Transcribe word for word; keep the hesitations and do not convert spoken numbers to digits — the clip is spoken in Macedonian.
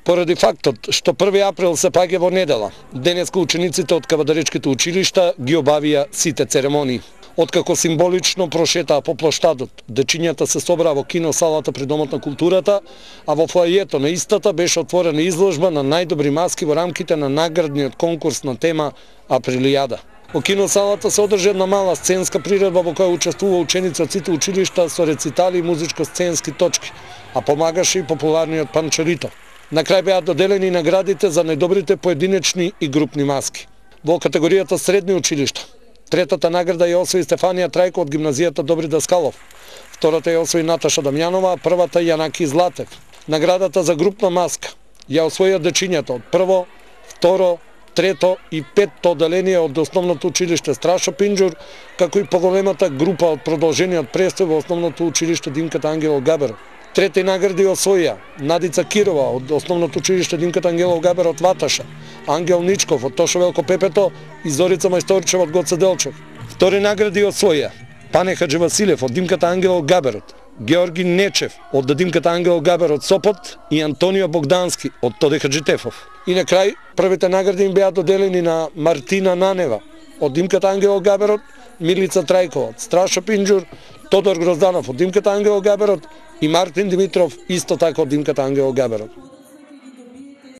Поради фактот што први април се паѓа во недела, денеска учениците од кавадаречките училишта ги обавија сите церемонии. Откако символично прошетаа по плоштадот, дечињата се собраа во киносалата при Домот на културата, а во фоајето на истата беше отворена изложба на најдобри маски во рамките на наградниот конкурс на тема Априлијада. Во киносалата се одржа една мала сценска приредба во која учествува ученици од сите училишта со рецитали и музичко-сценски точки, а помагаше и популарниот Панчерито. На крај беа доделени наградите за најдобрите поединечни и групни маски. Во категоријата средни училишта, третата награда ја освои Стефанија Трајко од гимназијата Добри Даскалов, втората ја освои Наташа Дамјанова, а првата Јанаки Златев. Наградата за групна маска ја освоија дечињата од прво, второ, трето и петто одделение од основното училиште Страшо Пинџур, како и поголемата група од продолжениот престој во основното училиште Димката Ангелов Габеров. Трети награди освоија Надица Кирова од основното училиште Димката Ангелов Габер од Ваташа, Ангел Ничков од Тошо Велко Пепето и Зорица Мајсторчева од Гоце Делчев. Втори награди освоија Пане Хаджи Василев од Димката Ангелов Габерот, Георги Нечев од Димката Ангелов Габер од Сопот и Антонио Богдански од Тоде Хаджитефов. И на крај првите награди им беа доделени на Мартина Нанева од Димката Ангелов Габерот, Милица Трајкова од Страшо Пинџур, Тодор Грозданов од Димката Ангелов Габерот и Мартин Димитров исто така од Димката Ангелов Габерот.